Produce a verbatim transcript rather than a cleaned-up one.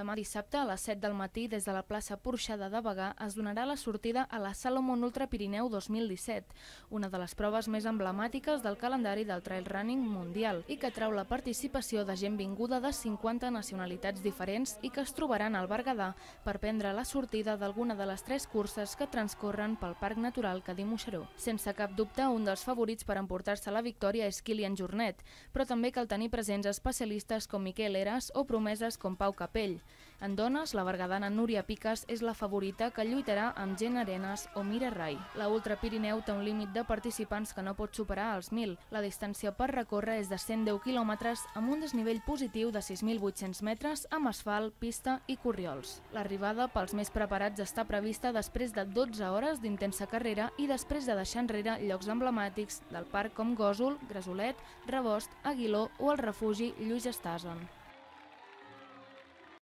Demà dissabte a les set del matí des de la plaça Porxada de Bagà es donarà la sortida a la Salomon Ultra Pirineu dos mil disset, una de les proves més emblemàtiques del calendari del trail running mundial i que trau la participació de gent vinguda de cinquanta nacionalitats diferents i que es trobaran al Berguedà per prendre la sortida d'alguna de les tres curses que transcorren pel Parc Natural Cadí-Moixeró. Sense cap dubte, un dels favorits per emportar-se la victòria és Kilian Jornet, però també cal tenir presents especialistes com Miquel Eras o promeses com Pau Capell. En dones, la berguedana Núria Picas és la favorita que lluitarà amb Jen Arenas o Mira Rai. La Ultra Pirineu té un límit de participants que no pot superar els mil. La distància per recórrer és de cent deu quilòmetres amb un desnivell positiu de sis mil vuit-cents metres amb asfalt, pista i corriols. L'arribada pels més preparats està prevista després de dotze hores d'intensa carrera i després de deixar enrere llocs emblemàtics del parc com Gósol, Gresolet, Rebost, Aguiló o el refugi Lluís Estason.